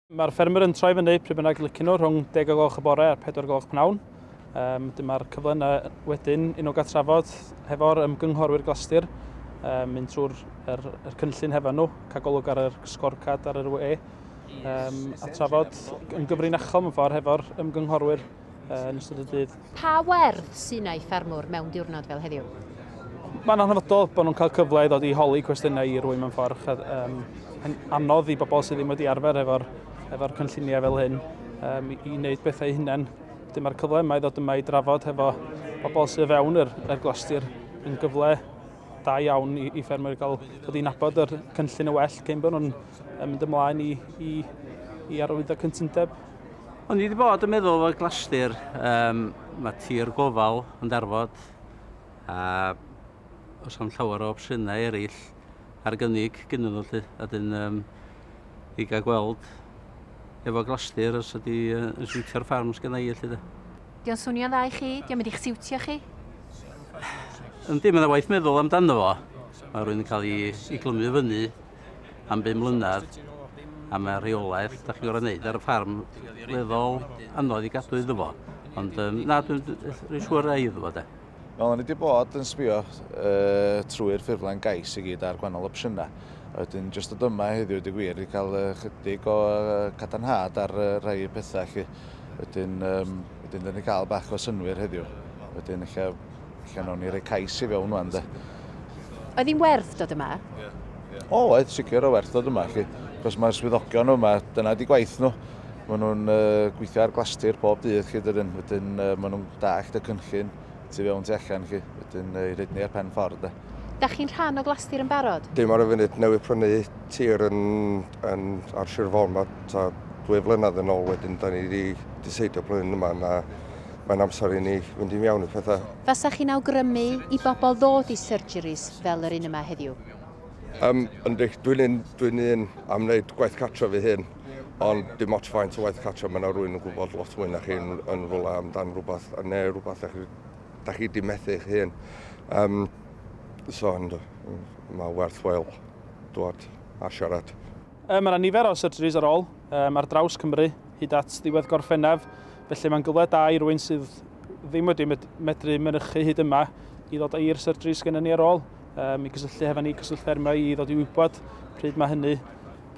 Mae'r ffermwyr yn troi fyny pryd bynnag licen nhw rhwng 10 o gloch y bore a 4 gloch pnawn. Dyma'r cyfle yna wedyn i nhw gael trafod hefo'r ymgynghorwyr Glastir, mynd trwy'r yr cynllun hefo nhw, cael golwg ar yr scorecard ar yr we, a trafod yn gyfrinachol mewn ffordd hefo'r ymgynghorwyr yn ystod y dydd. Pa werth sy'n ei ffermwr mewn diwrnod fel heddiw? Mae'n hanfodol bod nhw'n cael cyfle i ddod i holi cwestiynau i rywun mewn ffordd. Anodd i bobl sydd ddim wedi arfer efo'r cynlluniau fel hyn i wneud bethau hunain. Dyma'r cyfle yma i ddod yma i drafod hefo bobl sydd fewn yr Glastir yn gyfle da iawn i ffermwyr gael dod i nabod yr cynllun y well cyn bod nhw'n mynd ymlaen i arwyddo cytundeb. O'n i wedi bod yn meddwl fod Glastir, mae tir gofal yn darfod a oes am llawer o opsiynau eraill ar gynnig gynnyn nhw lly, a dyn i gael gweld efo Glastir os ydy yn siwtio'r ffarm sgynna i lly. Dio'n swnio'n dda i chi? Dio'n mynd i'ch siwtio chi? Yndi, mae'n waith meddwl amdano fo. Mae rhywun yn cael ei glymu fyny am 5 mlynedd a mae rheolaeth da chi'n gorfod wneud ar y ffarm weddol anodd i gadw iddo fo. Ond na, dwi'n siŵr rai iddo fo de. Wel, o'n i wedi bod yn sbio trwy'r ffurflen gais i gyd ar gwahanol opsiynau. A wedyn, jyst dod yma heddiw, di gwir, i cael chydig o cadarnhad ar rhai pethau. Lly. Wedyn, wedyn dyn ni cael bach o synwyr heddiw. Wedyn, ella nawn ni roi cais i fewn wan, de. Oedd hi'n werth dod yma? O, oedd, sicr o werth dod yma. Lly. Cos mae'r swyddogion yma, dyna di gwaith nhw. Maen nhw'n gweithio ar Glastir pob dydd, lly, dydyn. Wedyn, maen nhw'n dallt y cynllun tu fewn tu allan, lly. Wedyn, i rhaid ni ar pen ffordd, de. Da chi'n rhan o Glastir yn barod? Dim ar y funud, newydd prynu tir yn ar Sir Fôn, ma ta 2 flynedd yn ôl wedyn, da ni wedi diseidio blwyddyn yma na mae'n amser i ni fynd i mewn i pethau. Fasa chi'n awgrymu i bobl ddod i surgeries fel yr un yma heddiw? Yndi, dwi'n un am wneud gwaith cartra fi hyn, ond dim ots faint o waith cartra, mae yna rhywun yn gwybod lot mwy na chi yn rhywle amdan rhywbeth, neu rhywbeth da chi di methu eich hun. So, ond mae werth chweil dod a siarad. Mae yna nifer o surgeries ar ôl ar draws Cymru hyd at ddiwedd Gorffennaf, felly mae'n gyfle da i rywun sydd ddim wedi medru mynychu hyd yma i ddod i'r surgeries gennym ni ar ôl, i gysylltu hefo ni, Cyswllt Ffermio, i ddod i wybod pryd mae hynny,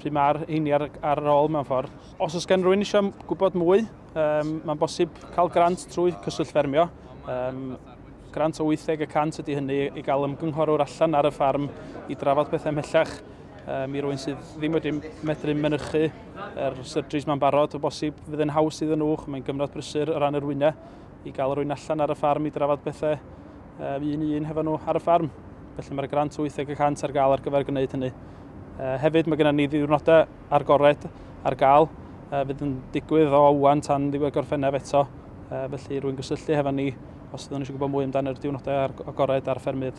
pryd mae'r heini ar ôl mewn ffordd. Os oes gen rhywun eisiau gwybod mwy, mae'n bosib cael grant trwy Cyswllt Ffermio. Grant o 80% ydy hynny i gael ymgynghorwr allan ar y ffarm i drafod pethau ymhellach i rywun sydd ddim wedi medru mynychu yr surgeries ma'n barod, o bosib fydd yn haws iddyn nhw, mae'n gyfnod brysur o ran yr wyna, i gael rhywun allan ar y ffarm i drafod pethau un i un hefo nhw ar y ffarm. Felly mae'r grant 80% ar gael ar gyfer gwneud hynny. Hefyd mae gennym ni ddiwrnodau agored ar gael, fydd yn digwydd o wan tan ddiwedd Gorffennaf eto, felly rwy'n gysylltu hefo ni os ydyn nhw eisiau gwybod mwy amdano'r diwrnodau agored ar ffermydd.